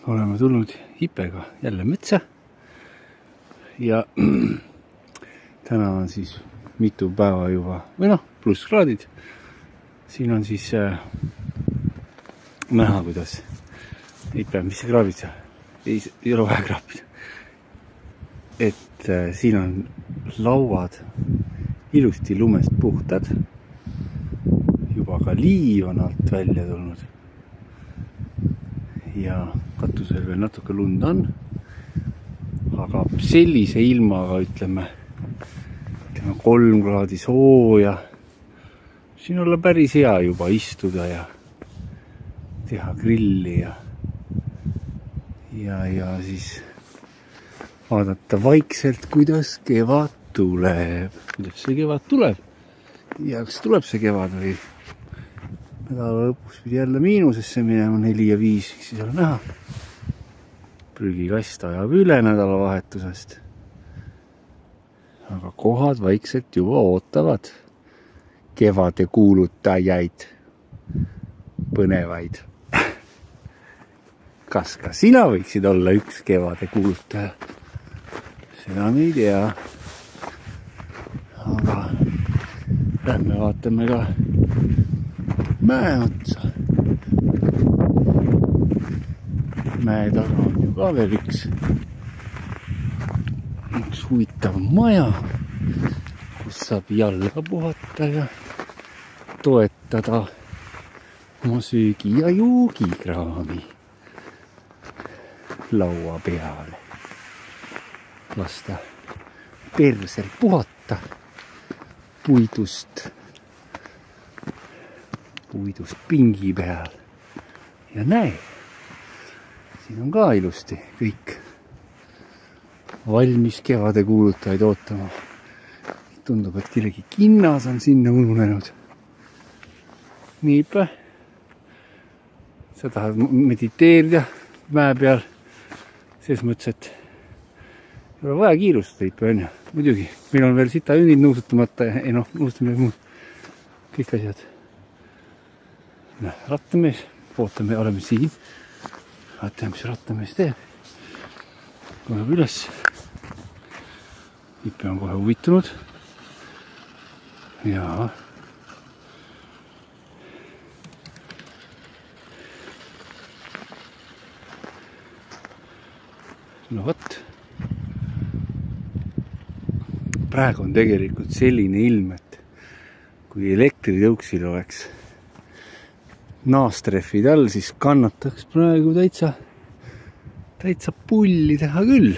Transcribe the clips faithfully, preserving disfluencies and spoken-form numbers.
oleme tulnud Ipega jälle metsa ja täna on siis mitu päeva juba, või noh, pluss kraadid. Siin on siis äh, näha, kuidas Ipe, mis see kraabid seal? Ei, ei ole vähe kraabid. Et äh, siin on lauad ilusti lumest puhtad. Juba ka liiv on alt välja tulnud. Ja katusel veel natuke lund on. Aga sellise ilmaga ütleme, ütleme kolm kraadi sooja. Siin olla päris hea juba istuda ja teha grilli ja, ja, ja siis vaadata vaikselt, kuidas kevad tuleb. Kuidas see kevad tuleb? Ja kas tuleb see kevad või nädala lõpus pidi jälle miinusesse minema neli ja viis, siis ole näha. Prügikast ajab üle nädalavahetusest. Aga kohad vaikselt juba ootavad kevade kuulutajaid, põnevaid. Kas ka sina võiksid olla üks kevade kuulutaja? Seda me ei tea. Aga lähme vaatame ka mäe otsa. Mäe taga on ju ka veel üks, üks huvitav maja, kus saab jalga puhata ja toetada oma söögi ja joogikraami laua peale. Lasta persel puhata puidust, puidust pingi peal. Ja näe, siin on ka ilusti kõik valmis kevade kuulutajaid ootama. Tundub, et kellegi kinnas on sinna ununenud. Niipä. Sa tahad mediteerida mäe peal. Selles mõttes, et ei ole vaja kiirustada Ipe, on ju. Muidugi, meil on veel sita ünnid nuusutamata ja ei noh, nuusutame muud. Kõik asjad. No, rattamees. Ootame, oleme siin. Vaatame, mis rattamees teeb. Tuleb üles. Ipe on kohe huvitunud. Jaa. No võt. Praegu on tegelikult selline ilm, et kui elektritõuksil oleks naastreffid all, siis kannataks praegu täitsa, täitsa pulli teha küll.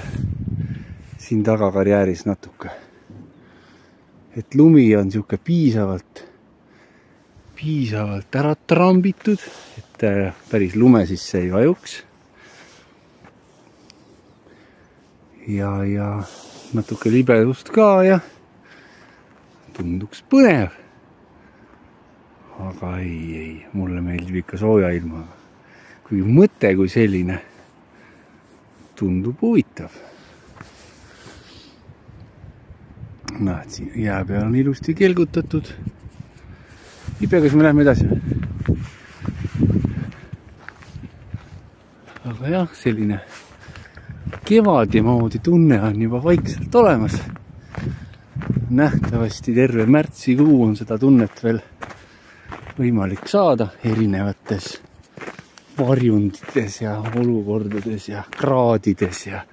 Siin taga karjääris natuke. Et lumi on siuke piisavalt, piisavalt ära trambitud, et päris lume sisse ei vajuks. Ja, ja natuke libedust ka ja tunduks põnev. Aga ei, ei, mulle meeldib ikka sooja ilmaga. Kui mõte kui selline tundub huvitav. Näed, siin jää peal on ilusti kelgutatud. Ipe, kas me lähme edasi? Aga jah, selline kevadi moodi tunne on juba vaikselt olemas. Nähtavasti terve märtsikuu on seda tunnet veel võimalik saada erinevates varjundites ja olukordades ja kraadides ja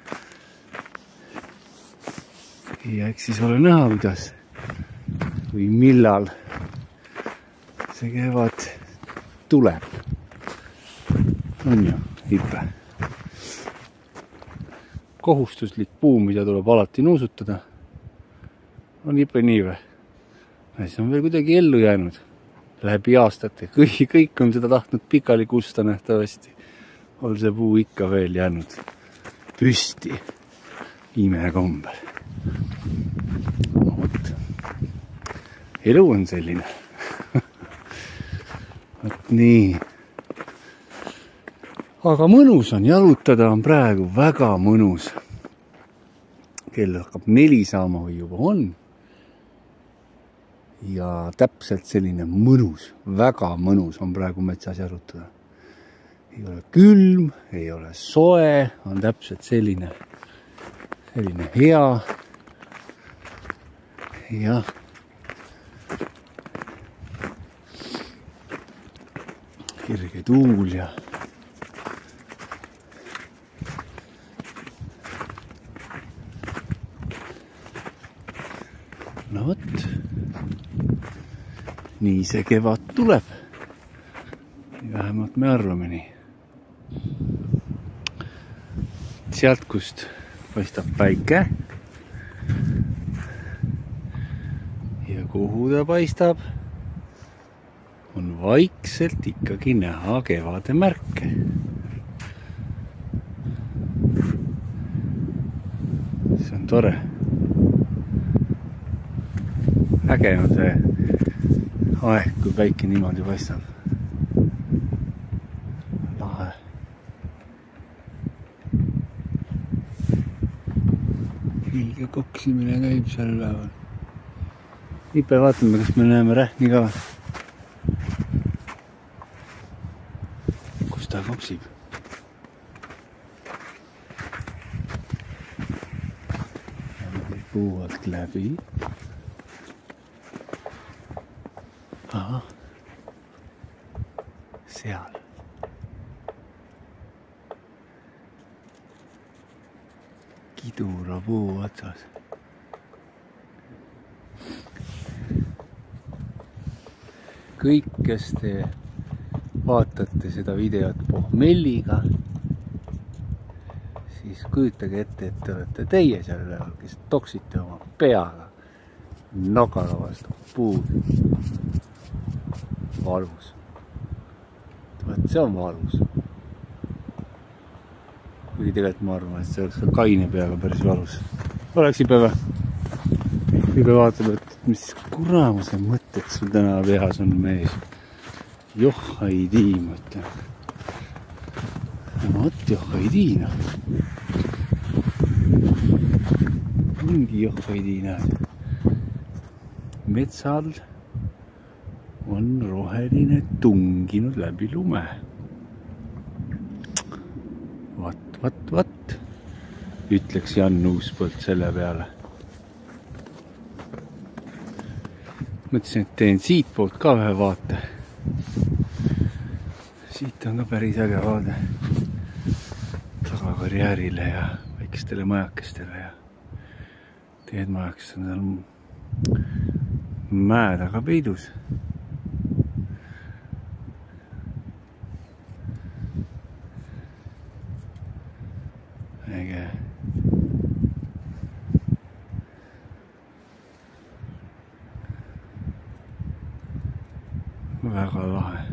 ja eks siis ole näha, kuidas või millal see kevad tuleb. On ju, Ipe? Kohustuslik puu, mida tuleb alati nuusutada. On Ipe nii või? See on veel kuidagi ellu jäänud läbi aastate. Kõik, kõik on seda tahtnud pikali kusta nähtavasti. On see puu ikka veel jäänud püsti imekombel. No, võt. Elu on selline. Võt nii. Aga mõnus on jalutada, on praegu väga mõnus. Kell hakkab neli saama või juba on. Ja täpselt selline mõnus, väga mõnus on praegu metsas jalutada. ei ole külm, ei ole soe, on täpselt selline, selline hea. Ja kirge tuul ja no vot, nii see kevad tuleb. Vähemalt me arvame nii. Sealt, kust paistab päike ja kuhu ta paistab, on vaikselt ikkagi näha kevade märke. See on tore. Äge on see aeg, kui päike niimoodi paistab. Lahe. Ilge koksimine käib seal üleval. Ipe vaatame, kas me näeme rähni ka. Kus ta kopsib? Puu alt läbi. Aha. Seal. Kidura puu otsas. Kõik, kes te vaatate seda videot pohmelliga, siis kujutage ette, et te olete teie seal üleval, kes toksite oma peaga nokala vastu puud. Valus. Võt, see on valus. Kuigi tegelikult ma arvan, et see oleks ka kaine peaga päris valus. Oleks Ipe või? Ipe vaatab, et mis kuramuse mõtted sul täna pehas on mees. Joh, ei tii, ma ütlen. No vot, joh, ei tii, noh. Ongi joh, ei tii, näed. Metsal on roheline tunginud läbi lume. Vat, vat, vat, ütleks Jan Uuspõld selle peale. Mõtlesin, et teen siit poolt ka ühe vaate. Siit on ka päris äge vaade. Tagakarjäärile ja väikestele majakestele ja teed majakest on seal mäe taga peidus. Äge. Väga lahe.